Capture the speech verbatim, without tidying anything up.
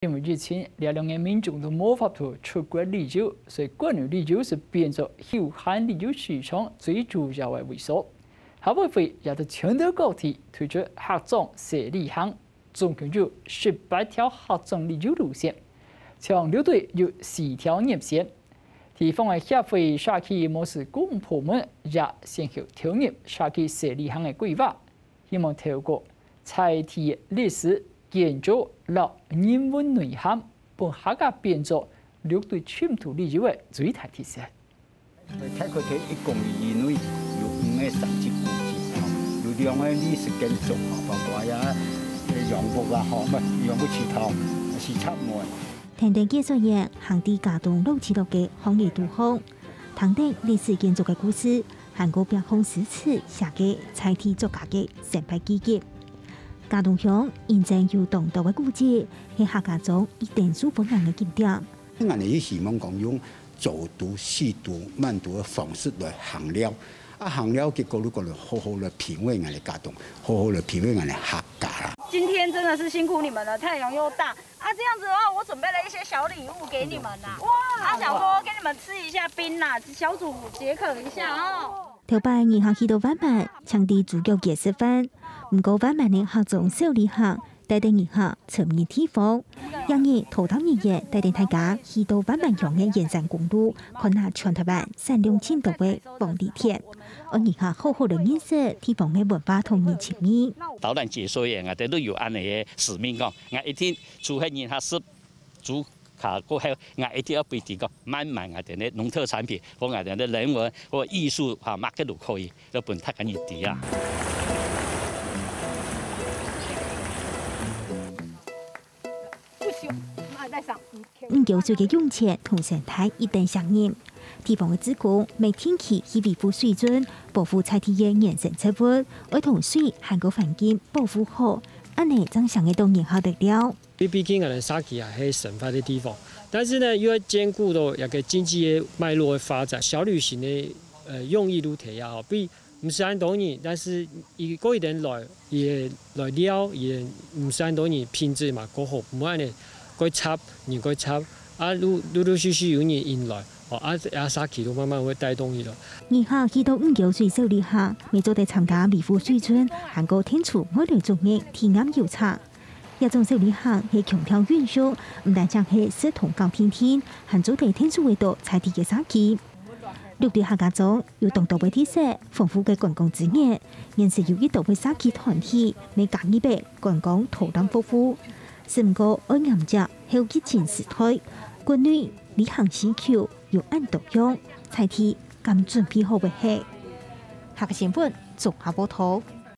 因為疫情，這兩年民眾都無法度出國旅遊，所以國內旅遊係變做休閒旅遊市場最主要个位所。客委會也在全島各地推出客庄細旅行，總共有十八條客庄旅遊路線，像六堆有四條入線。地方个協會社區模式公部門也先後投入社區細旅行个規劃， 希望透過在地歷史、建築摎人文內涵，分客家變做六堆深度旅遊个最大特色。大概在一公里以內有五个三級古蹟，吼，有兩个歷史建築，吼，包括呀，呃，楊屋啊，吼，毋係，楊屋祠堂，係插門。 跈等解說員行在佳冬老聚落个荒野肚項，聽等歷史建築个故事，還過壁項詩詞寫个在地作家个生活記憶。佳冬鄉因為有當多个古蹟，係客家庄一等受歡迎个景點。𠊎等也希望講用走讀、細讀、慢讀个方式來行了。啊，行了，結果如果好好來品味𠊎等佳冬，好好來品味𠊎等客家啦。今天真的是辛苦你們了，太陽又大， 啊，這樣子的話，我準備了一些小禮物給你們啦。哇！啊，想說給你們吃一下冰啦，小組解渴一下哦。頭擺人客去到萬巒，淨在豬腳街食飯，毋過萬巒个客庄小旅行，帶等人客深入地方。這日，陶達人員帶等大家去到萬巒鄉个沿山公路，看下全臺灣產量盡多个黃梨田，愛人客好好來認識地方个文化同人情味。導覽解說員啊，𠊎等都有恁樣个使命講，𠊎一定 除忒人客食豬腳過後，𠊎一定愛分佢講，慢慢𠊎等个農特產品，或𠊎等个人文或藝術哈，麼个都可以，都分大家人知啊。五溝水个湧泉同生態一等吸引，地方个志工乜定期去維護水圳，保護在地个原生植物，愛同水還過環境保護好，恁樣正省得到人客來尞。 因為畢竟𠊎等社區也係生活个地方，但是呢，又愛兼顧到一個經濟个脈絡个發展。小旅行个，呃，用意就在這吼，比毋使恁多人，但是佢過一點來，佢个來尞，佢个毋使恁多人，品質嘛過好，毋會恁樣過雜，人過雜，啊，陸，陸陸續續有人引來，哦，啊，啊，社區就慢慢會帶動起來。人客去到五溝水小旅行，乜做得參加維護水圳，還過天主愛來種个體驗遊程。 這種小旅行係強調永續，毋單淨係食同搞定定，還做得𢯭手會到在地个社區。六堆客家庄有當多个特色，豐富个觀光資源，現時有一多个社區團體乜加入个觀光導覽服務。只毋過愛迎接後疫情時代，國內旅行需求有恁多樣，在地敢準備好未係？客家新聞綜合報導。